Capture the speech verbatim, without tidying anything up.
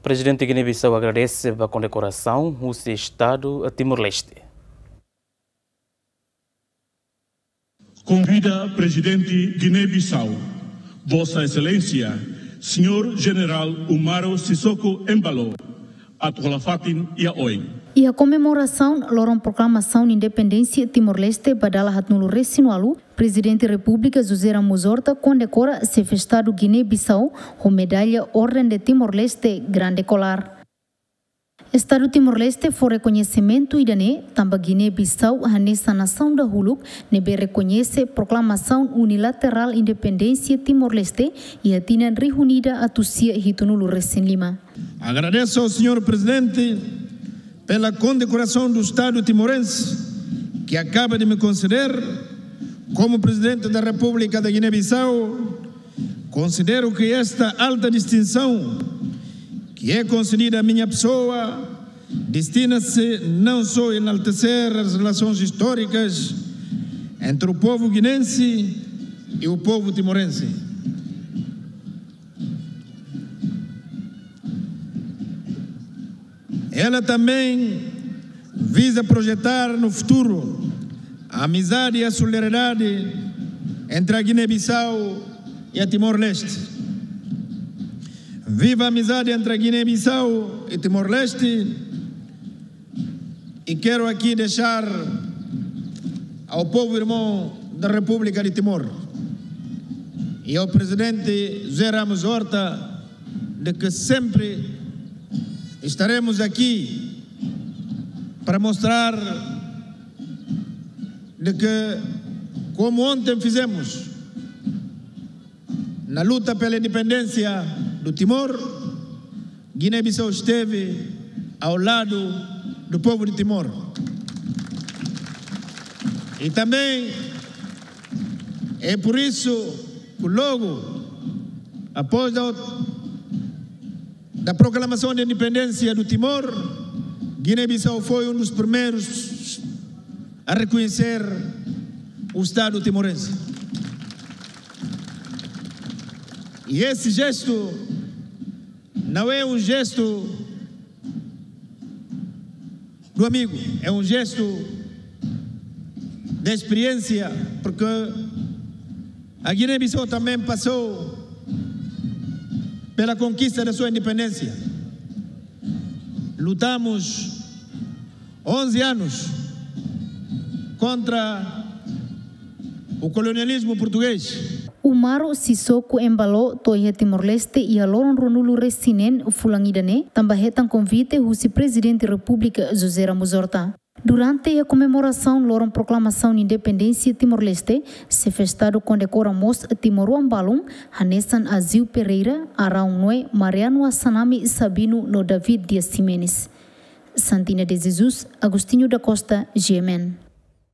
Prezidente Guiné-Bissau agradese ba kondekorasaun husi Estadu Timor-Leste. Konvida Prezidente Guiné-Bissau, Vossa Exelénsia, Señór Jenerál Umaro Sissoco Embaló, atu halo fatin iha oin. Iha komemorasaun loron proklamasaun independénsia Timor-Leste ba dala haatnulu-resin-ualu, Prezidente Repúblika José Ramos Horta kondekora Xefe Estadu Guiné-Bissau ho medalla Orden de Timor-Leste Grande Kolar. Estadu Timor-Leste fó rekoñesimentu ida-ne'e tanba Guiné-Bissau hanesan nasaun dahuluk ne'ebé rekoñese proklamasaun unilaterál independénsia Timor-Leste iha tinan rihun ida atus sia hitunulu-resin-lima. Agradeço ao senhor Presidente pela condecoração do Estado timorense que acaba de me conceder como Presidente da República da Guiné-Bissau. Considero que esta alta distinção, que é concedida à minha pessoa, destina-se não só a enaltecer as relações históricas entre o povo guinense e o povo timorense. Ela também visa projetar no futuro a amizade e a solidariedade entre a Guiné-Bissau e a Timor-Leste. Viva a amizade entre a Guiné-Bissau e Timor-Leste. E quero aqui deixar ao povo irmão da República de Timor e ao Presidente José Ramos Horta de que sempre estaremos aqui para mostrar de que, como ontem fizemos na luta pela independência do Timor, Guiné-Bissau esteve ao lado do povo de Timor. E também é por isso que logo após da, da proclamação de independência do Timor, Guiné-Bissau foi um dos primeiros a reconhecer o Estado timorense. E esse gesto não é um gesto do amigo, é um gesto de experiência, porque a Guiné-Bissau também passou pela conquista da sua independência. Lutamos onze anos contra o colonialismo português. Umaro Sissoco Embaló to'o iha Timor-Leste iha loron ruanulu-resin-neen fulan ida-ne'e, tanba hetan konvite husi Prezidente Repúblika José Ramos Horta. Durante iha komemorasaun loron proklamasaun independénsia Timor-Leste, Xefe Estadu kondekora mós timoroan balun, hanesan Azeu Pereira, Araun Noé, Mariano Assanami Sabino no David Dias Ximenes. Santina de Jesus, Agostinho da Costa, G M N.